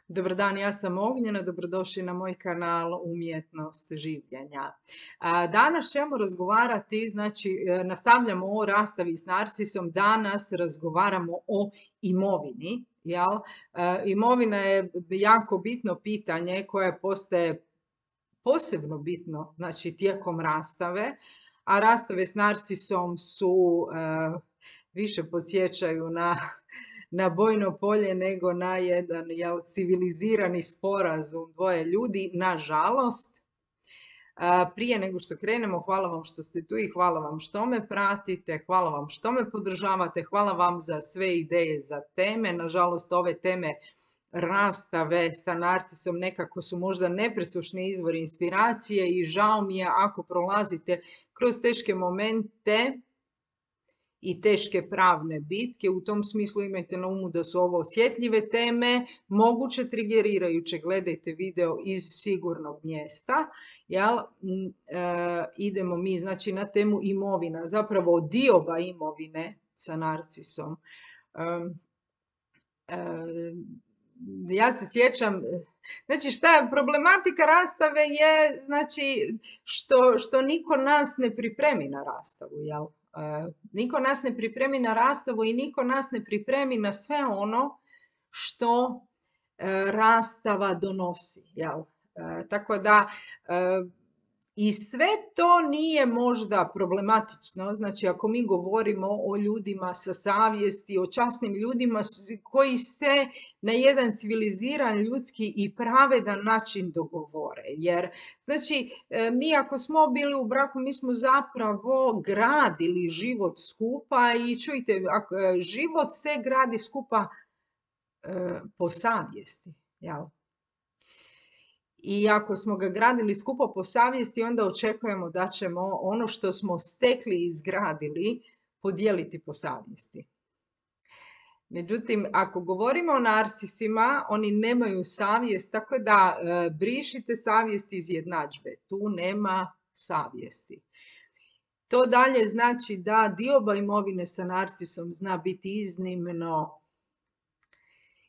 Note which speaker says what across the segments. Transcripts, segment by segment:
Speaker 1: Dobar dan, ja sam Ognjena, dobrodošli na moj kanal Umjetnost življenja. Danas ćemo razgovarati, nastavljamo o rastavi s narcisom, danas razgovaramo o imovini. Jel? Imovina je jako bitno pitanje koje postaje posebno bitno tijekom rastave, a rastave s narcisom su više podsjećaju na bojno polje nego na jedan civilizirani sporazum dvoje ljudi, nažalost. Prije nego što krenemo, hvala vam što ste tu i hvala vam što me pratite, hvala vam što me podržavate, hvala vam za sve ideje za teme. Nažalost, ove teme rastave sa narcisom nekako su možda nepresušni izvori inspiracije i žao mi je ako prolazite kroz teške momente i teške pravne bitke. U tom smislu imajte na umu da su ovo osjetljive teme, moguće trigerirajuće. Gledajte video iz sigurnog mjesta. Idemo mi na temu imovina, zapravo dioba imovine sa narcisom. Ja se sjećam, šta je problematika rastave je, što niko nas ne pripremi na rastavu, jel? Niko nas ne pripremi na rastavu i niko nas ne pripremi na sve ono što rastava donosi, jel? Tako da i sve to nije možda problematično, ako mi govorimo o ljudima sa savjesti, o časnim ljudima koji se na jedan civiliziran, ljudski i pravedan način dogovore. Jer, mi ako smo bili u braku, mi smo zapravo gradili život skupa i čujte, život se gradi skupa po savjesti, jel? I ako smo ga gradili skupo po savjesti, onda očekujemo da ćemo ono što smo stekli i izgradili podijeliti po savjesti. Međutim, ako govorimo o narcisima, oni nemaju savjest, tako da brišite savjest iz jednadžbe. Tu nema savjesti. To dalje znači da dioba imovine sa narcisom zna biti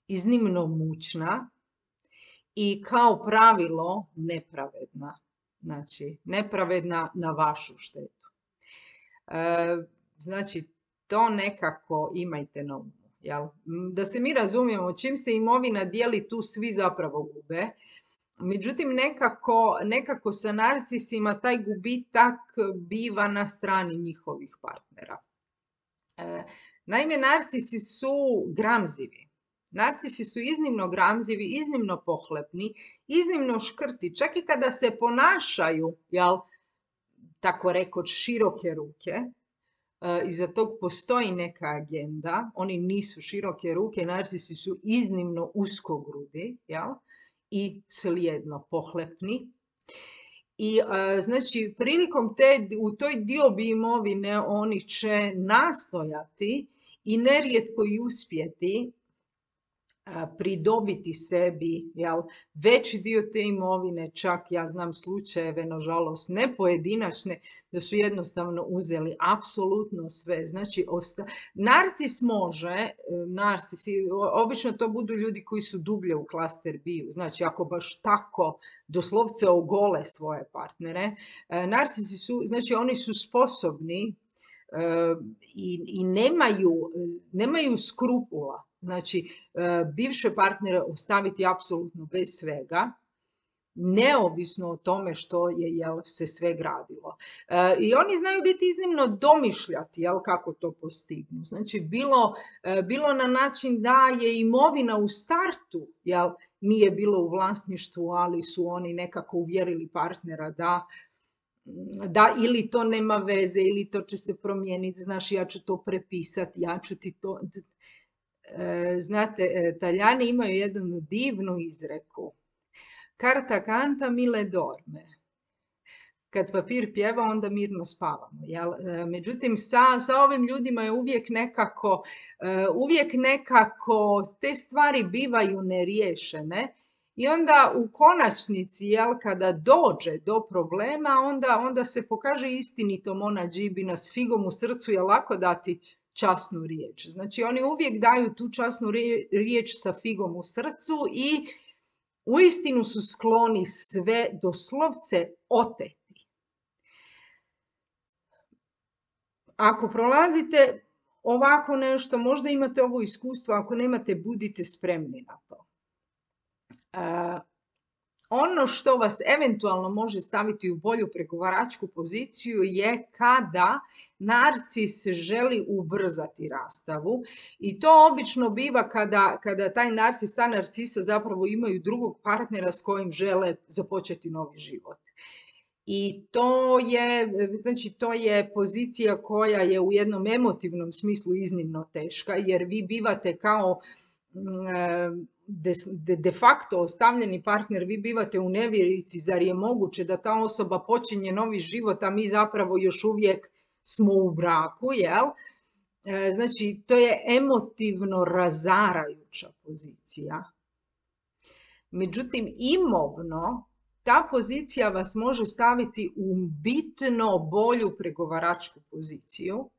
Speaker 1: iznimno mučna i kao pravilo nepravedna. Nepravedna na vašu štetu. To nekako imajte na umu. Jel? Da se mi razumijemo, čim se imovina dijeli, tu svi zapravo gube. Međutim, nekako sa narcisima taj gubitak biva na strani njihovih partnera. Naime, narcisi su gramzivi. Narcisi su iznimno gramzivi, iznimno pohlepni, iznimno škrti. Čak i kada se ponašaju, tako rekoć, široke ruke, iza tog postoji neka agenda. Oni nisu široke ruke, narcisi su iznimno uskogrudi, i slijedno pohlepni. I prilikom u toj diobi imovine oni će nastojati i nerijetko i uspjeti pridobiti sebi veći dio te imovine, čak ja znam slučajeve, nažalost ne pojedinačne, da su jednostavno uzeli apsolutno sve. Narcis može, obično to budu ljudi koji su dublje u klaster biju, ako baš tako doslovce ogole svoje partnere, narcisi su, oni su sposobni i nemaju skrupula. Bivše partnere ostaviti apsolutno bez svega, neovisno o tome što je se sve gradilo. I oni znaju biti iznimno domišljati kako to postignu. Bilo na način da je imovina u startu nije bilo u vlasništvu, ali su oni nekako uvjerili partnera da ili to nema veze, ili to će se promijeniti, ja ću to prepisati, ja ću ti to... Znate, Talijani imaju jednu divnu izreku. Carta canta, mille dorme. Kad papir pjeva, onda mirno spavamo. Međutim, sa ovim ljudima je uvijek nekako te stvari bivaju neriješene i onda u konačnici, kada dođe do problema, onda se pokaže istinitom ona džibina s figom u srcu, je lako dati časnu riječ. Oni uvijek daju tu časnu riječ sa figom u srcu i uistinu su skloni sve doslovce oteti. Ako prolazite ovako nešto, možda imate ovo iskustvo, ako nemate, budite spremni na to. Ono što vas eventualno može staviti u bolju pregovaračku poziciju je kada narcis želi ubrzati rastavu, i to obično biva kada taj narcis, ta narcisa zapravo imaju drugog partnera s kojim žele započeti novi život. I to je pozicija koja je u jednom emotivnom smislu iznimno teška, jer vi bivate kao de facto ostavljeni partner, vi bivate u nevjerici, zar je moguće da ta osoba počinje novi život, a mi zapravo još uvijek smo u braku, jel? Znači, to je emotivno razarajuća pozicija. Međutim, imovno, ta pozicija vas može staviti u bitno bolju pregovaračku poziciju.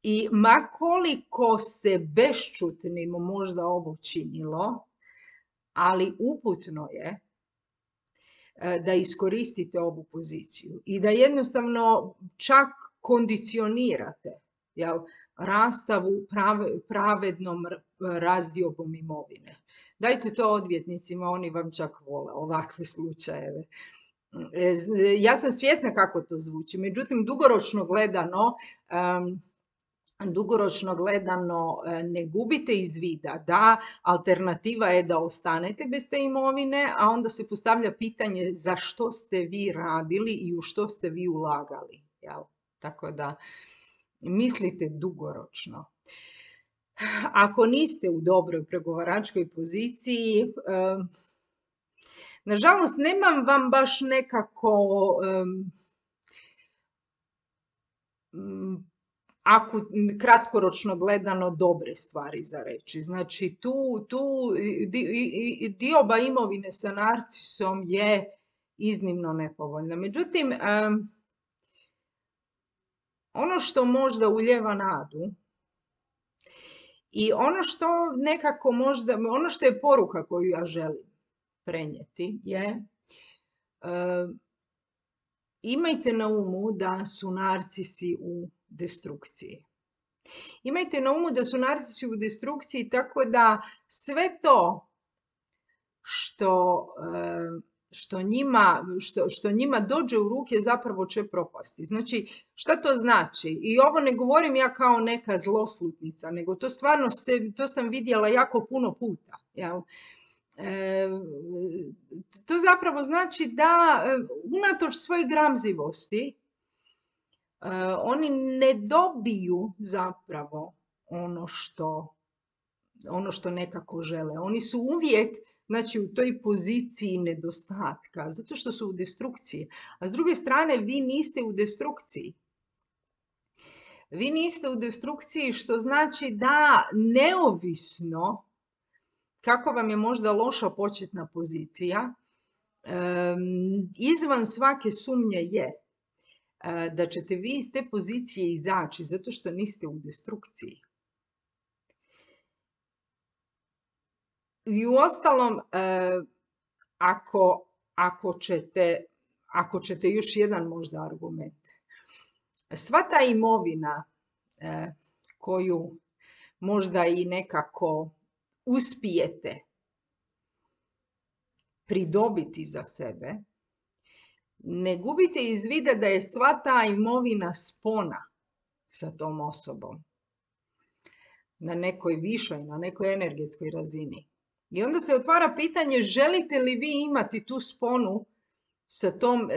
Speaker 1: I ma koliko se bešćutnim možda ovo činilo, ali uputno je da iskoristite ovu poziciju i da jednostavno čak kondicionirate, jel, rastavu pravednom razdiobom imovine. Dajte to odvjetnicima, oni vam čak vole ovakve slučajeve. Ja sam svjesna kako to zvuči, međutim dugoročno gledano ne gubite iz vida da alternativa je da ostanete bez te imovine, a onda se postavlja pitanje za što ste vi radili i u što ste vi ulagali. Jel? Tako da mislite dugoročno. Ako niste u dobroj pregovaračkoj poziciji, nažalost nemam vam baš nekako kratkoročno gledano dobre stvari za reći. Znači, tu dioba imovine sa narcisom je iznimno nepovoljna. Međutim, ono što možda ulijeva nadu i ono što nekako možda, ono što je poruka koju ja želim prenijeti je imajte na umu da su narcisi u destrukciji. Imajte na umu da su narcisi u destrukciji, tako da sve to što njima dođe u ruke zapravo će propasti. Znači, šta to znači? I ovo ne govorim ja kao neka zloslutnica, nego to stvarno to sam vidjela jako puno puta. Jel? To zapravo znači da unatoč svoje gramzivosti oni ne dobiju zapravo ono što nekako žele. Oni su uvijek, znači, u toj poziciji nedostatka, zato što su u destrukciji. A s druge strane, vi niste u destrukciji. Vi niste u destrukciji, što znači da neovisno kako vam je možda loša početna pozicija, izvan svake sumnje je da ćete vi iz te pozicije izaći zato što niste u destrukciji. I uostalom, ako ćete još jedan možda argument, sva ta imovina koju možda i nekako uspijete pridobiti za sebe, ne gubite iz vida da je sva ta imovina spona sa tom osobom na nekoj višoj, na nekoj energetskoj razini. I onda se otvara pitanje, želite li vi imati tu sponu sa tom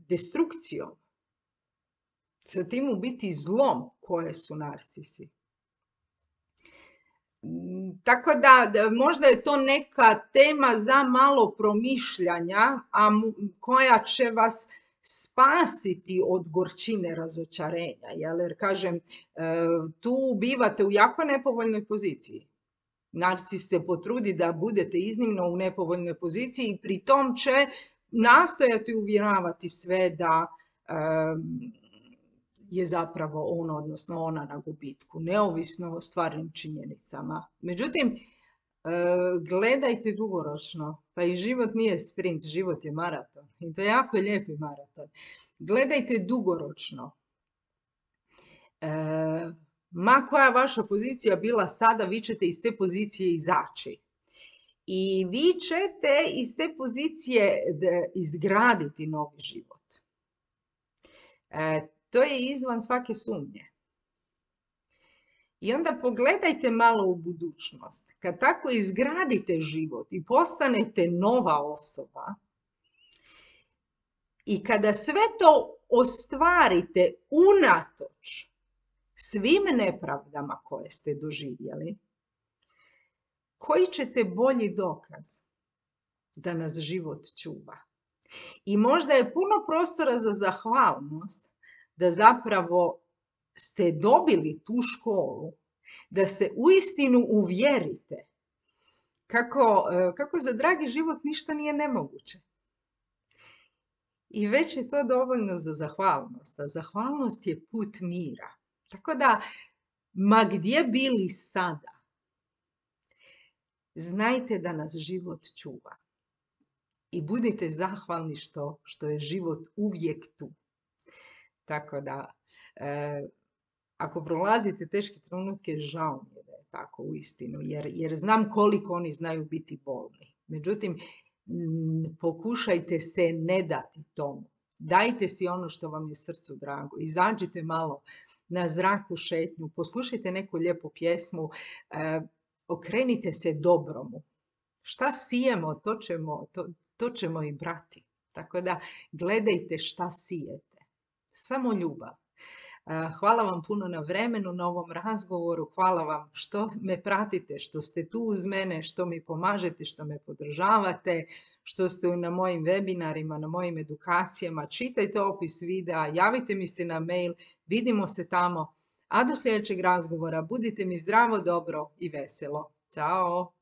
Speaker 1: destrukcijom, sa tim u biti zlom koje su narcisi. Tako da možda je to neka tema za malo promišljanja, a koja će vas spasiti od gorčine razočarenja. Jer kažem, tu bivate u jako nepovoljnoj poziciji. Narcis se potrudi da budete iznimno u nepovoljnoj poziciji i pri tom će nastojati uvjeravati sve da je zapravo on, odnosno ona, na gubitku, neovisno o stvarnim činjenicama. Međutim, Gledajte dugoročno. Pa i život nije sprint, život je maraton. I to je jako lijepi maraton. Gledajte dugoročno. Ma koja vaša pozicija bila sada, vi ćete iz te pozicije izaći. I vi ćete iz te pozicije izgraditi novi život. To je izvan svake sumnje. I onda pogledajte malo u budućnost. Kad tako izgradite život i postanete nova osoba, i kada sve to ostvarite unatoč svim nepravdama koje ste doživjeli, koji ćete bolji dokaz da nas život čuva? I možda je puno prostora za zahvalnost da zapravo ste dobili tu školu, da se uistinu uvjerite kako za dragi život ništa nije nemoguće. I već je to dovoljno za zahvalnost. A zahvalnost je put mira. Tako da, ma gdje bili sada, znajte da nas život čuva. I budite zahvalni što je život uvijek tu. Tako da, ako prolazite teške trenutke, žao mi je da je tako uistinu, jer znam koliko oni znaju biti bolni. Međutim, pokušajte se ne dati tomu. Dajte si ono što vam je srcu drago. Izađite malo na zraku šetnju, poslušajte neku lijepu pjesmu, okrenite se dobromu. Šta sijemo, to ćemo i brati. Tako da gledajte šta sijete. Samo ljubav. Hvala vam puno na vremenu, na ovom razgovoru. Hvala vam što me pratite, što ste tu uz mene, što mi pomažete, što me podržavate, što ste na mojim webinarima, na mojim edukacijama. Čitajte opis videa, javite mi se na mail, vidimo se tamo. A do sljedećeg razgovora budite mi zdravo, dobro i veselo. Ćao!